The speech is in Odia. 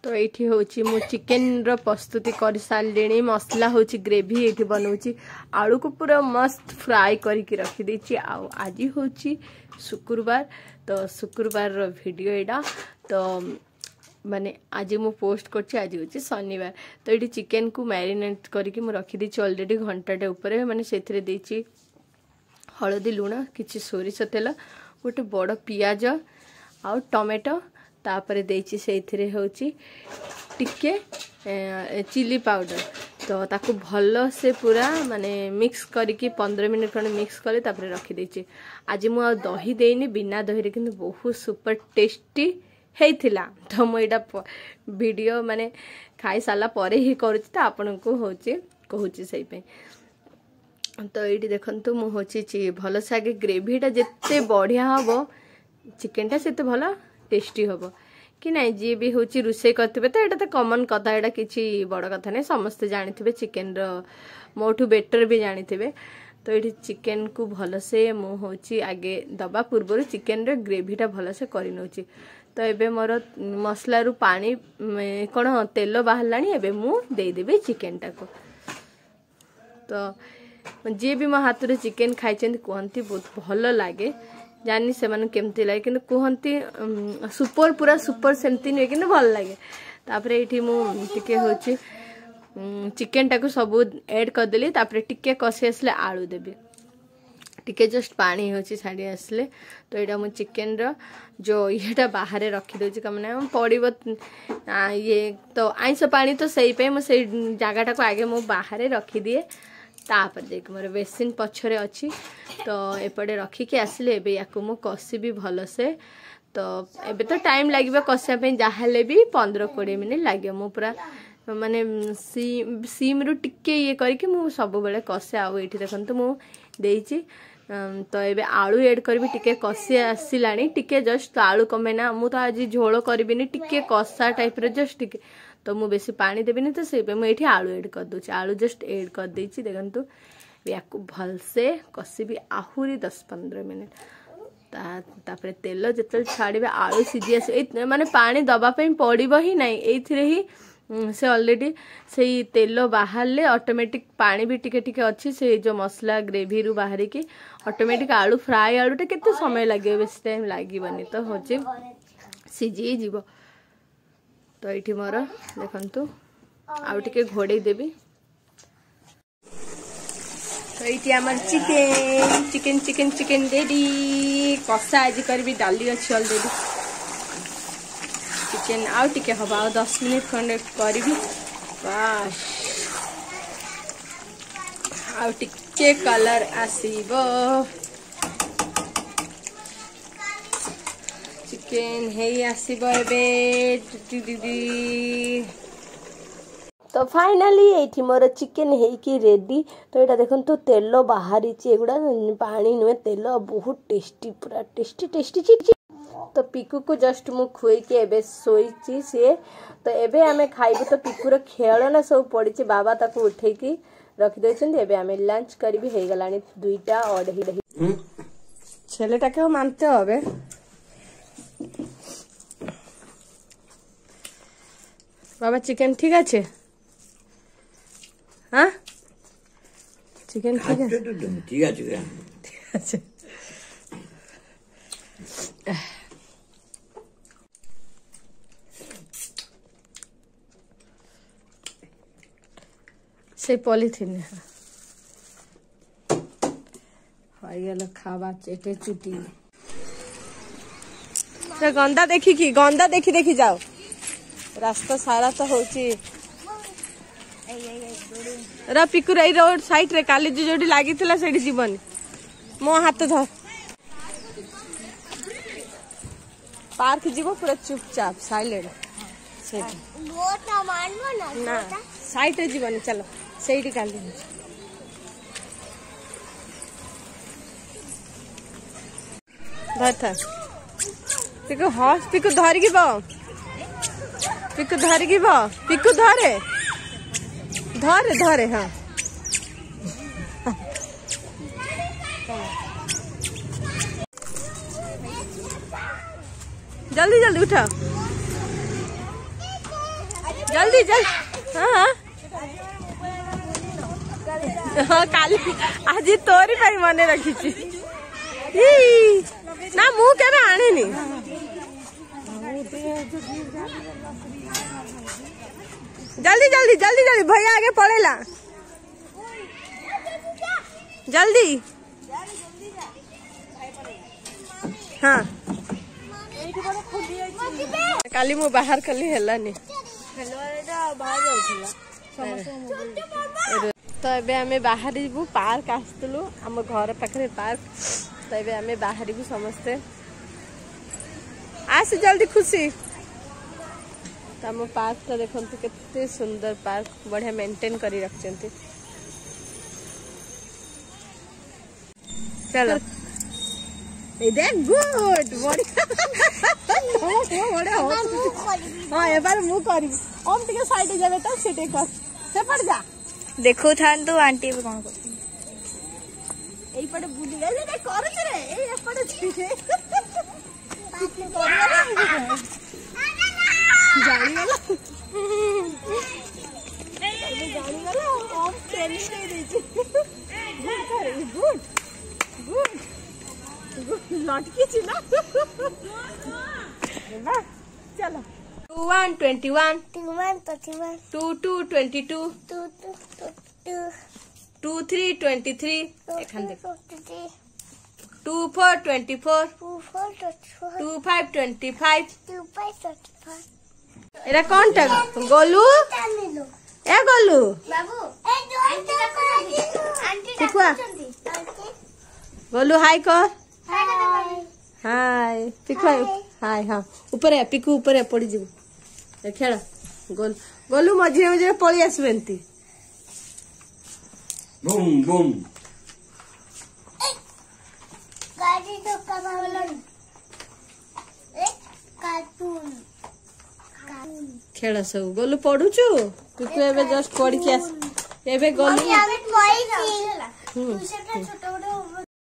ତ ଏଇଠି ହେଉଛି ମୁଁ ଚିକେନର ପ୍ରସ୍ତୁତି କରିସାରିଲିଣି। ମସଲା ହେଉଛି ଗ୍ରେଭି ଏଇଠି ବନଉଛି, ଆଳୁକୁ ପୁରା ମସ୍ତ ଫ୍ରାଏ କରିକି ରଖିଦେଇଛି। ଆଉ ଆଜି ହେଉଛି ଶୁକ୍ରବାର, ତ ଶୁକ୍ରବାରର ଭିଡ଼ିଓ ଏଇଟା। ତ ମାନେ ଆଜି ମୁଁ ପୋଷ୍ଟ କରୁଛି, ଆଜି ହେଉଛି ଶନିବାର। ତ ଏଇଠି ଚିକେନକୁ ମ୍ୟାରିନେଟ୍ କରିକି ମୁଁ ରଖିଦେଇଛି ଅଲରେଡ଼ି ଘଣ୍ଟାଟେ ଉପରେ। ମାନେ ସେଥିରେ ଦେଇଛି ହଳଦୀ, ଲୁଣ, କିଛି ସୋରିଷ ତେଲ, ଗୋଟେ ବଡ଼ ପିଆଜ ଆଉ ଟମାଟୋ। ତାପରେ ଦେଇଛି ସେଇଥିରେ ହେଉଛି ଟିକେ ଚିଲି ପାଉଡ଼ର। ତ ତାକୁ ଭଲସେ ପୁରା ମାନେ ମିକ୍ସ କରିକି 15 ମିନିଟ୍ ଖଣ୍ଡେ ମିକ୍ସ କରି ତାପରେ ରଖିଦେଇଛି। ଆଜି ମୁଁ ଆଉ ଦହି ଦେଇନି, ବିନା ଦହିରେ କିନ୍ତୁ ବହୁତ ସୁପର ଟେଷ୍ଟି ହେଇଥିଲା। ତ ମୁଁ ଏଇଟା ଭିଡ଼ିଓ ମାନେ ଖାଇସାରିଲା ପରେ ହିଁ କରୁଛି, ତ ଆପଣଙ୍କୁ ହେଉଛି କହୁଛି ସେଇପାଇଁ। ତ ଏଇଠି ଦେଖନ୍ତୁ, ମୁଁ ହେଉଛି ଭଲସେ ଆଗେ ଗ୍ରେଭିଟା ଯେତେ ବଢ଼ିଆ ହେବ ଚିକେନଟା ସେତେ ଭଲ ଟେଷ୍ଟି ହେବ କି ନାଇଁ? ଯିଏ ବି ହେଉଛି ରୋଷେଇ କରିଥିବେ, ତ ଏଇଟା ତ କମନ୍ କଥା, ଏଇଟା କିଛି ବଡ଼ କଥା ନାହିଁ, ସମସ୍ତେ ଜାଣିଥିବେ, ଚିକେନର ମୋଠୁ ବେଟର୍ ବି ଜାଣିଥିବେ। ତ ଏଇଠି ଚିକେନକୁ ଭଲସେ ମୁଁ ହେଉଛି ଆଗେ ଦେବା ପୂର୍ବରୁ ଚିକେନର ଗ୍ରେଭିଟା ଭଲସେ କରିନେଉଛି। ତ ଏବେ ମୋର ମସଲାରୁ ପାଣି କ'ଣ ତେଲ ବାହାରିଲାଣି, ଏବେ ମୁଁ ଦେଇଦେବି ଚିକେନଟାକୁ। ତ ଯିଏ ବି ମୋ ହାତରୁ ଚିକେନ ଖାଇଛନ୍ତି କୁହନ୍ତି ବହୁତ ଭଲ ଲାଗେ। ଜାଣିନି ସେମାନଙ୍କୁ କେମିତି ଲାଗେ, କିନ୍ତୁ କୁହନ୍ତି ସୁପର, ପୁରା ସୁପର ସେମିତି ନୁହେଁ କିନ୍ତୁ ଭଲ ଲାଗେ। ତାପରେ ଏଇଠି ମୁଁ ଟିକେ ହେଉଛି ଚିକେନଟାକୁ ସବୁ ଏଡ଼୍ କରିଦେଲି। ତାପରେ ଟିକେ କଷି ଆସିଲେ ଆଳୁ ଦେବି, ଟିକେ ଜଷ୍ଟ ପାଣି ହେଉଛି ଛାଡ଼ି ଆସିଲେ। ତ ଏଇଟା ମୁଁ ଚିକେନର ଯେଉଁ ଇଏଟା ବାହାରେ ରଖିଦେଉଛି, କାରଣ ପଡ଼ିବ ଇଏ ତ ଆଇଁଷ ପାଣି, ତ ସେଇ ପାଇଁ ମୁଁ ସେଇ ଜାଗାଟାକୁ ଆଗେ ମୁଁ ବାହାରେ ରଖିଦିଏ। ତାପରେ ଯାଇକି ମୋର ବେସିନ୍ ପଛରେ ଅଛି, ତ ଏପଟେ ରଖିକି ଆସିଲେ ଏବେ ୟାକୁ ମୁଁ କଷିବି ଭଲସେ। ତ ଏବେ ତ ଟାଇମ୍ ଲାଗିବ କଷିବା ପାଇଁ, ଯାହାହେଲେ ବି 15-20 ମିନିଟ୍ ଲାଗିବ। ମୁଁ ପୁରା ମାନେ ସିମ୍ରୁ ଟିକେ ଇଏ କରିକି ମୁଁ ସବୁବେଳେ କଷେ। ଆଉ ଏଇଠି ଦେଖନ୍ତୁ ମୁଁ ଦେଇଛି, ତ ଏବେ ଆଳୁ ଏଡ଼୍ କରିବି। ଟିକେ କଷି ଆସିଲାଣି ଟିକେ ଜଷ୍ଟ, ତ ଆଳୁ କମେ ନା ମୁଁ ତ ଆଜି ଝୋଳ କରିବିନି, ଟିକେ କଷା ଟାଇପ୍ର ଜଷ୍ଟ ଟିକେ, ତ ମୁଁ ବେଶୀ ପାଣି ଦେବିନି, ତ ସେଇପାଇଁ ମୁଁ ଏଇଠି ଆଳୁ ଏଡ଼୍ କରିଦେଉଛି। ଆଳୁ ଜଷ୍ଟ ଏଡ଼୍ କରିଦେଇଛି ଦେଖନ୍ତୁ। ୟାକୁ ଭଲସେ କଷିବି ଆହୁରି 10-15 ମିନିଟ୍। ତାପରେ ତେଲ ଯେତେବେଳେ ଛାଡ଼ିବେ, ଆଳୁ ସିଝି ଆସିବ, ଏଇ ମାନେ ପାଣି ଦେବା ପାଇଁ ପଡ଼ିବ ହିଁ ନାହିଁ। ଏଇଥିରେ ହିଁ ସେ ଅଲରେଡ଼ି ସେଇ ତେଲ ବାହାରିଲେ ଅଟୋମେଟିକ୍ ପାଣି ବି ଟିକେ ଟିକେ ଅଛି, ସେଇ ଯେଉଁ ମସଲା ଗ୍ରେଭିରୁ ବାହାରିକି ଅଟୋମେଟିକ୍ ଆଳୁ ଫ୍ରାଏ ଆଳୁଟା କେତେ ସମୟ ଲାଗିବ? ବେଶୀ ଟାଇମ୍ ଲାଗିବନି, ତ ହେଉଛି ସିଝିଯିବ। ତ ଏଇଠି ମୋର ଦେଖନ୍ତୁ, ଆଉ ଟିକେ ଘୋଡ଼େଇ ଦେବି। ତ ଏଇଠି ଆମର chicken chicken chicken chicken ready. କଷା ଆଜି କରିବି, ଡାଲି ଅଛି ଅଲରେଡ଼ି, ଚିକେନ ଆଉ ଟିକେ ହବ, ଆଉ 10 ମିନିଟ୍ ଖଣ୍ଡେ କରିବି ବାସ୍। ଆଉ ଟିକେ କଲର୍ ଆସିବ, ଚିକେନ ହେଇ ଆସିବ ଏବେ ଦିଦି। ତ ଫାଇନାଲି ଏଇଠି ମୋର ଚିକେନ ହେଇକି ରେଡ଼ି। ତ ଏଇଟା ଦେଖନ୍ତୁ ତେଲ ବାହାରିଛି, ଏଗୁଡ଼ା ପାଣି ନୁହେଁ ତେଲ, ବହୁତ ଟେଷ୍ଟି, ପୁରା ଟେଷ୍ଟି ଟେଷ୍ଟି। ତ ପିକୁକୁ ଜଷ୍ଟ ମୁଁ ଖୁଏଇକି ଏବେ ଶୋଇଛି ସିଏ, ତ ଏବେ ଆମେ ଖାଇବୁ। ତ ପିକୁର ଖେଳନା ସବୁ ପଡ଼ିଛି, ବାବା ତାକୁ ଉଠେଇକି ରଖିଦେଇଛନ୍ତି। ଏବେ ଆମେ ଲଞ୍ଚ କରିବି। ହେଇଗଲାଣି 2ଟା 2:30। ছেলেটাকেও মানতে হবে। বাবা, চিকেন ঠিক আছে? হ্যাঁ, চিকেন ঠিক আছে, ঠিক আছে, ঠিক আছে। সেই পলিথিনে হয়ে গেল খাবার, চেটে চুটি। গন্দা ଦେଖିକି, ଗନ୍ଦା ଦେଖି ଦେଖି ଯାও। ରାସ୍ତା ସାରା ତ ହଉଛି ର ପିକୁର, ଏଇ ରୋଡ ସାଇଡରେ କାଲି ଯୋଉଠି ଲାଗିଥିଲା ସେଇଠି ଯିବନି। ମୋ ହାତ ଧର, ପାର୍କ ଯିବ, ପୁରା ଚୁପଚାପ ସାଇଲେଣ୍ଟ ସେଇଠି ନା, ସାଇଡରେ ଯିବନି। ଚାଲ, ସେଇଠି କାଲି ଧରିଥା ପିକୁ। ହସ୍ ପିକୁ, ଧରିକି ବ ପିକୁ, ଧରିକି ବ ପିକୁ, ଧରେ ଧରେ ଧରେ। ହଁ, ଜଲ୍ଦି ଜଲ୍ଦି ଉଠ। ଜଲ୍ଦି ଜଲ୍ଦି। ହଁ ହଁ, କାଲି ଆଜି ତୋରି ପାଇଁ ମନେ ରଖିଛି ନା, ମୁଁ କେବେ ଆଣିନି। ଜଲ୍ଦି ଜଲ୍ଦି ଜଲ୍ଦି ଜଲ୍ଦି, ଭैया ଆଗେ ପଳେଇଲା, ଜଲ୍ଦି। ହଁ, କାଲି ମୁଁ ବାହାର କଲି, ହେଲାନି। ତ ଏବେ ଆମେ ବାହାରିବୁ, ପାର୍କ ଆସିଥିଲୁ, ଆମ ଘର ପାଖରେ ପାର୍କ। ତ ଏବେ ଆମେ ବାହାରିବୁ ସମସ୍ତେ। ଆସ ଜଲ୍ଦି ଖୁସି। ତ ଆମ ପାର୍କଟା ଦେଖନ୍ତୁ, କେତେ ସୁନ୍ଦର ପାର୍କ, ବଢିଆ ମେଣ୍ଟେନ୍ କରି ରଖିଛନ୍ତି। ଚାଲ, ଏଇ ଦେଖ, ଗୁଡ୍, ବଢିଆ ବଢିଆ। ହଁ, ଏବାର ମୁଁ କରିବି। ଓମ୍ ଟିକେ ସାଇଡ୍ ଯାବେ ତ, ସେ ଟିକେ କର, ସେପଟେ ଯା। ଦେଖୁଥାନ୍ତୁ ଆଣ୍ଟି ଏବେ କଣ କରୁଛନ୍ତି। ଏଇପଟେ ବୁଲି କରୁଛି ରେ, ଏଇ ଏପଟେ ଜାଣିଗଲା, ଏବେ ଜାଣିଗଲା। ଓମ୍ ଟ୍ରେନିଂ ଦେଇ ଦେଇଛି। ଗୁଡ୍ ଗୁଡ୍ ଗୁଡ୍, ଲଟକିଛି ନା? ଚାଲ। 2 1 21, 2 1 21, 2 2 22, 2 2 22, 2 3 23, এখান থেকে 23, 2 4 24, 2 4 24, 2 5 25, 2 5 25। এটা কোনটা গোলু? এ গোলু বাবু, পিকুয়া, গোলু হাই কর। High Piku, high. ହଁ, ଉପରେ ପିକୁ, ଉପରେ ପଡିଯିବୁ। ଖେଳ ଗୋଲ ଗୋଲୁ, ମଝିରେ ମଝିରେ ପଳେଇ ଆସିବ ଏମିତି। Boom boom. ଗାଡି ଧକ୍କା ମାରିଲାଣି। କାର୍ଟୁନ ଖେଳ ସବୁ। ଗୋଲୁ ପଢୁଛୁ? ପିକୁ ଏବେ ଜଷ୍ଟ ପଢିକି ଆସ ଏବେ ଗୋଲୁ। ଛୋଟ ବଡ